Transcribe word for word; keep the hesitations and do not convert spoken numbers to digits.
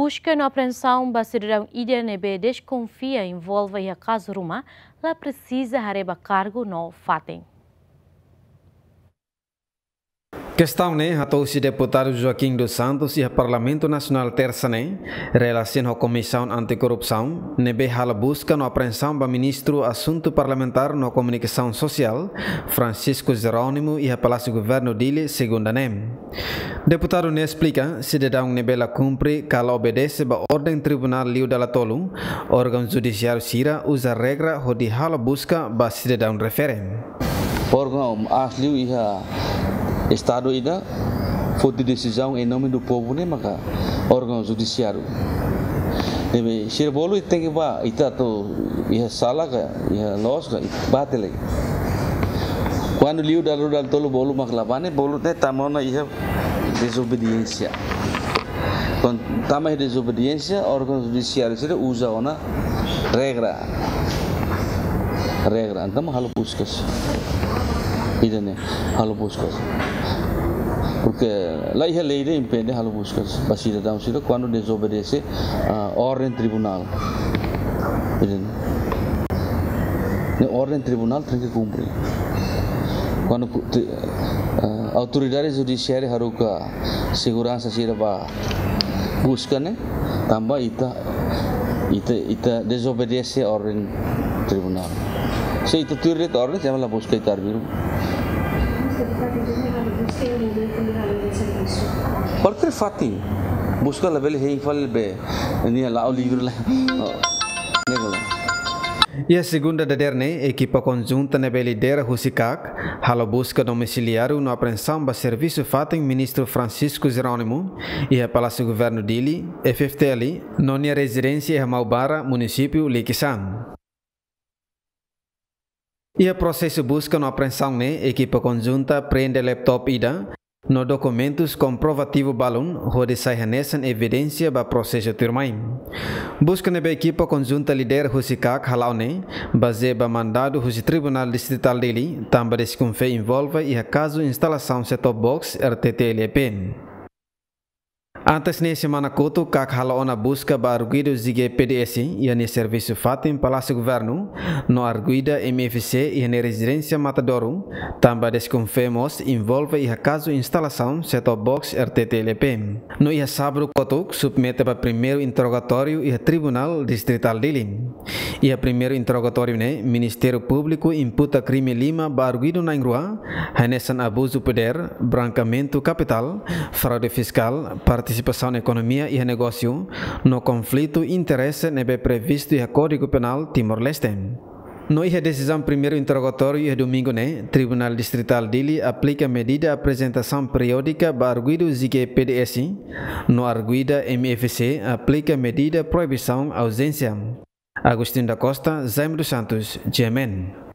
Buska no apreensaun ba sidadaun ida ne'ebé deskonfia envolve iha kazu ruma, la presiza haree ba kargu no fatin. Kestaun ne'e hato'o husi deputadu Joaquim dos Santos iha Parlamentu Nasionál Tersa ne'e, relasiona ho Komisaun Antikorrupsaun, ne'ebé halo buska no apreensaun ba Ministru Asuntu Parlamentár no Komunikasaun Sosiál, Francisco Jerónimo, iha Palásiu Governu Dili, Segunda ne'e. Deputadu ne'e esplika, sidadaun ne'ebé la kumpre ka la obedese ba orden tribunál liu dala tolu, órgaun judisiáriu sira uza regra hodi halo buska ba sidadaun refere. Órgaun aas liu iha Estadu ida foti desizaun em nome do povo ne'e maka órgaun judisiáriu. Ne'ebé sira bolu tenke bá, ita atu iha sala ka, iha loos ka, bá tiha lai. Kuandu liu dala rua dala tolu bolu mak la bá ne'e, bolu ne'e tama ona iha dezobediénsia. Kuandu tama iha dezobediénsia, órgaun judisiáriu sira uza ona regra. Regra, entaun halo buskas. Ida-ne'e, halo buskas. Porke la iha lei ida impede halo buskas ba sidadaun sira kuandu dezobedese, ah, orden tribunál. Ida-ne'e. Ne'e orden tribunál tenke kumpre. Kuandu ku-, te-, ah, autoridade judisiária haruka seguransa sira bá buska ne'e, tanba ita, ita, ita dezobedese orden tribunál. Se ita tuir de'it orden, se la buska ita arbiru. Kualkér fatin, buska labele hein fali be, nia la'o livre lai. Oh, ne'e kala. Iha segunda dadeer ne'e, ekipa konjunta ne'ebé lidera husi kak, halo buska domisiliáriu no apreensaun ba servisu fatin Ministru Francisco Jerónimo, iha Palásiu Governu Dili, F F T L, no nia rezidénsia iha Maubara, munisípiu Liquiçá. Iha prosesu buska no apreensaun ne'e, ekipa konjunta preende laptop ida, no dokumentus komprovativu balun, hodi sai hanesan evidénsia ba prosesu tuirmai. Buska ne'ebé ekipa konjunta lidera husi kak hala'o ne'e, bazeia ba mandadu husi Tribunál Distritál Dili, tanba deskonfia envolve iha kazu instalasaun set-top box R T T L E P. Antes ne'e semana kotuk kak halo ona buska ba arguidu G P D S iha nia servisu fatin Palásiu Governu, no arguida M F C iha nia rezidénsia Matadouro, tanba deskonfia mós envolve iha kazu instalasaun set-top box R T T L E P. No iha sábadu kotuk submete ba primeiru interrogatóriu iha Tribunál Distritál Dili. Iha primeiru interrogatóriu ne'e, Ministériu Públiku imputa krime lima ba arguidu na'in-rua, hanesan abuzu podér, brankeamentu kapitál, fraude fiskál, partisipasaun ekonomia iha negósiu, no konflitu interese ne'ebé previstu iha Kódigu Penál Timor-Leste. No iha desizaun primeiru interrogatóriu iha domingu ne'e, Tribunál Distritál Dili aplika medida aprezentasaun periódika ba arguidu G P D S, no arguida M F C aplika medida proibisaun auzénsia. Agostinho da Costa, Jaime dos Santos, G M N.